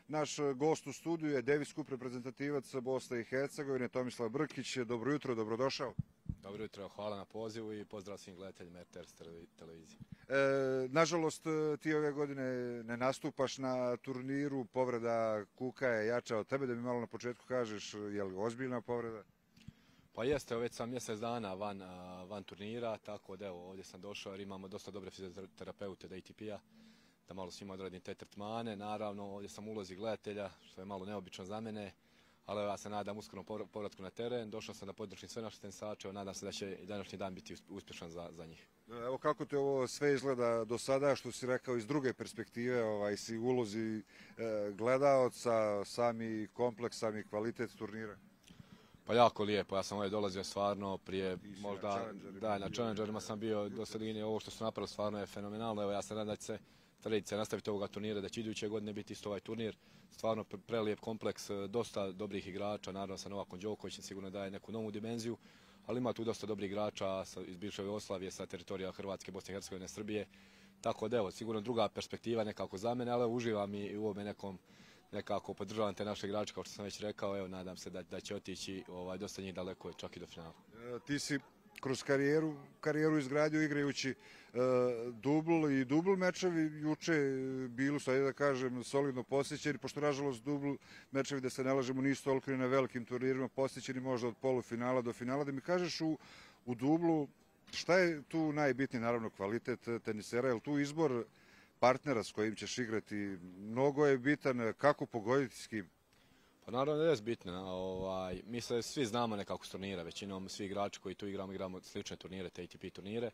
Naš gost u studiju je Davis Cup reprezentativac Bosne i Hercegovine, Tomislav Brkić. Dobro jutro, dobrodošao. Dobro jutro, hvala na pozivu i pozdrav svim gledateljima RTS televizije. Nažalost, ti ove godine ne nastupaš na turniru, povreda kuka je jača od tebe, da mi malo na početku kažeš je li ozbiljna povreda? Pa jeste, već sam mjesec dana van turnira, tako da evo ovdje sam došao jer imamo dosta dobre fizioterapeute od ATP-a, da malo svima odradim te tretmane. Naravno, ovdje sam u ulozi gledatelja, što je malo neobično za mene, ali ja se nadam uskorom povratku na teren. Došao sam da podržim sve naše tenisače, nadam se da će i današnji dan biti uspješan za njih. Evo kako te ovo sve izgleda do sada, što si rekao iz druge perspektive, si u ulozi gledaoca, sami kompleks, sami kvalitet turnira? Pa jako lijepo, ja sam ovdje dolazio stvarno prije možda, na Challengerima sam bio do sredine, ovo što su napravili stvarno je fenomenalno. Evo ja se nadam da će se tradicija nastaviti ovoga turnira, da će iduće godine biti isto ovaj turnir. Stvarno prelijep kompleks, dosta dobrih igrača, naravno sa Novakom Đokovićem sigurno daje neku novu dimenziju, ali ima tu dosta dobrih igrača iz bivše Jugoslavije, sa teritorija Hrvatske, Bosne i Hercegovine, Srbije. Tako da evo, sigurno druga perspektiva nekako za mene, ali uživam i u ovome nekako podržavam te naše igrače, kao što sam već rekao, evo nadam se da će otići dosta njih daleko, čak i do finala. Ti si kroz karijeru izgradio igrajući dubl mečevi, juče bili su, ajde da kažem, solidno posjećeni, pošto nažalost dubl mečevi, da se ne lažemo, nisu toliko ni na velikim turnirima posjećeni, možda od polufinala do finala. Da mi kažeš u dublu, šta je tu najbitniji, naravno kvalitet tenisera, je li tu izbor partnera s kojim ćeš igrati mnogo je bitan, kako pogoditi s kim? Pa naravno da je bitno. Mi se svi znamo nekako s turnira, većinom svi igrači koji tu igramo slične turnire, te ATP turnire.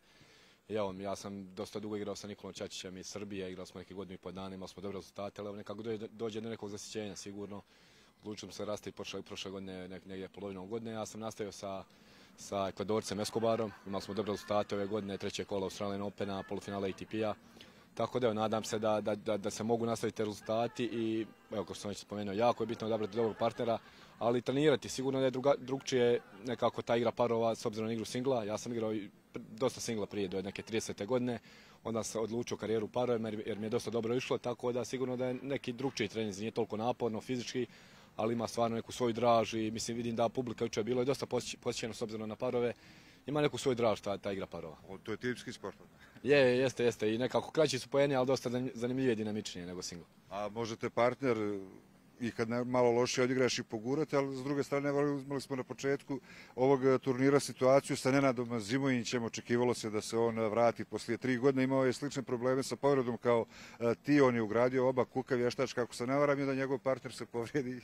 I evo, ja sam dosta dugo igrao sa Nikolom Čačićem iz Srbije, igrali smo neke godinu i pol dana, imali smo dobre rezultate, ali nekako dođe do nekog zasjećenja sigurno. Odlučili smo se rastaviti prošle godine, negdje polovinom godine. Ja sam nastavio sa Ekvadorcem Escobarom, imali smo dobre rezultate ove godine, treće kola Australian Opena, polufinala ATP-a. Tako da evo, nadam se da se mogu nastaviti rezultati i, evo, kao što sam već spomenuo, jako je bitno odabrati dobrog partnera, ali trenirati. Sigurno da je drugčije nekako ta igra parova s obzirom na igru singla. Ja sam igrao dosta singla prije, do neke 30. godine, onda sam odlučio karijeru parovima jer mi je dosta dobro išlo, tako da sigurno da je neki drugčiji trening, nije toliko naporno fizički, ali ima stvarno neku svoju draž i mislim vidim da publika jučer bilo je dosta posjećeno s obzirom na parove. Ima neku svoju draž ta igra parova. To je tipski sport. Jeste. I nekako kraći su poeni, ali dosta zanimljivije i dinamičnije nego single. A možete partner i kad malo lošije odigraš i pogurati, ali s druge strane imali smo na početku ovog turnira situaciju sa Nenadom Zimojićem. Očekivalo se da se on vrati poslije 3 godine. Imao je slične probleme sa povredom kao ti. On je ugradio oba kuka vještač, kako se ne varam, i da njegov partner se povrijedi.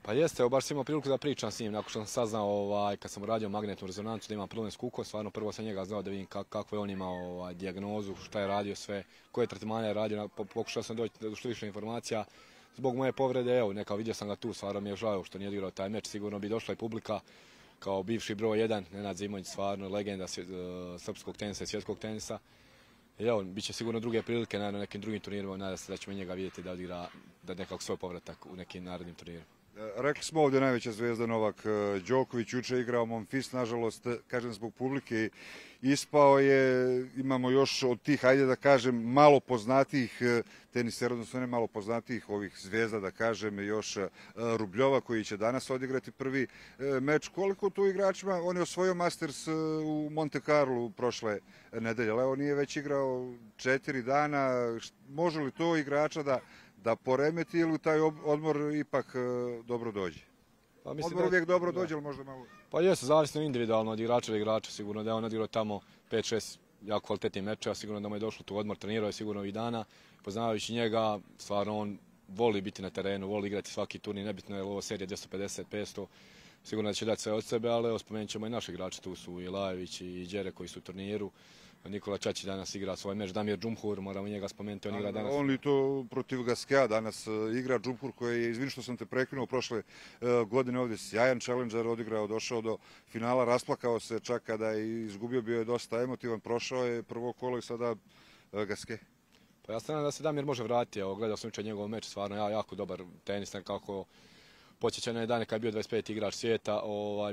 Pa jeste, baš sam imao priliku da pričam s njim, nakon što sam saznao kad sam uradio magnetnu rezonancu da imam problem s kukom, stvarno prvo sam njega znao da vidim kako je on imao dijagnozu, šta je radio sve, koje tretmane je radio, pokušao sam doći do što više informacija. Zbog moje povrede, evo, vidio sam ga tu, stvarno mi je žao što nije odigrao taj meč, sigurno bi došla i publika kao bivši broj 1, Nenad Zimonjić, stvarno legenda srpskog tenisa i svjetskog tenisa. I evo, bit će sigurno druge prilike na nekim drugim turnirima, nadam se da ćemo njega vidjeti da odigra nekako svoj povratak u nekim narednim turnirima. Rekli smo ovdje najveća zvezda Novak Đoković, juče igrao Monfils, nažalost, kažem zbog publike, ispao je. Imamo još od tih, ajde da kažem, malo poznatijih tenisera, odnosno ne malo poznatijih ovih zvezda, da kažem, još Rubljova koji će danas odigrati prvi meč. Koliko tu igračima, on je osvojio Masters u Monte Carlo prošle nedelje, ali on nije već igrao 4 dana, može li to igrača da poremeti ili taj odmor ipak dobro dođe? Pa mislim odmor uvijek dobro dođe, ali možda malo... Pa jesu, zavisno individualno od igrača do igrača, sigurno da je on odigrao tamo 5-6 jako kvalitetnih mečeva, sigurno da mu je došlo tu odmor, trenirao je sigurno ovih dana, poznavajući njega, stvarno on voli biti na terenu, voli igrati svaki turnir, nebitno je ovo serija 250-500, sigurno da će dati sve od sebe, ali spomenut ćemo i naše igrače, tu su i Lajović i Đere koji su u turniru. Nikola Čačić danas igra svoj meč, Damir Džumhur, moramo njega spomenuti, on igra danas. On i to protiv Gaskea danas igra. Džumhur koji je, izvini što sam te prekinuo, prošle godine ovdje sjajan challenger odigrao, došao do finala, rasplakao se čak kada je izgubio, bio je dosta emotivan, prošao je prvo kolo i sada Gaske. Pa ja se nadam da se Damir može vratiti, gledao sam jučer njegov meč, stvarno jako dobar tenis, nekako Podsjeća na dane kad je bio 25. igrač svijeta,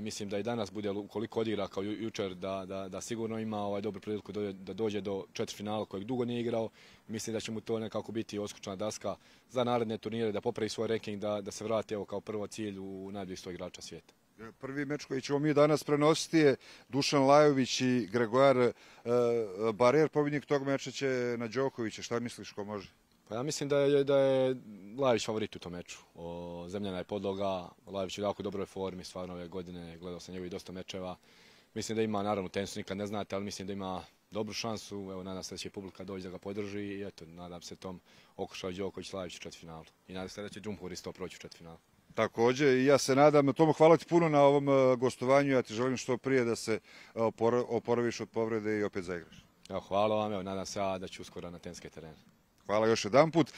mislim da i danas bude, ukoliko odigra kao jučer, da sigurno ima dobru priliku da dođe do četvrtfinala kojeg dugo nije igrao. Mislim da će mu to nekako biti odskočna daska za naredne turnire, da popravi svoj ranking, da se vrati kao prvo cilj u najboljih 100 igrača svijeta. Prvi meč koji ćemo mi danas prenositi je Dušan Lajović i Gregoire Barrère. Pobjednik tog meča će na Đokovića. Šta misliš, ko može? Pa ja mislim da je Lajović favorit u tom meču. Zemljana je podloga, Lajović je u jako dobroj formi, stvarno ove godine, gledao sam njegovih dosta mečeva. Mislim da ima, naravno, tenisu nikad ne znate, ali mislim da ima dobru šansu. Evo, nadam se da će publika doći da ga podrži i eto, nadam se tom okušaju Đoković Lajović u četvrtfinalu. I nadam se da će Džumhur isto proći u četvrtfinalu. Također, i ja se nadam. Tomo, hvala ti puno na ovom gostovanju. Ja ti želim što prije da se oporaviš od povrede i opet zaigraš. Evo, hvala vam, evo, nadam se da ću uskoro na tenske terene. Hvala još jedanput.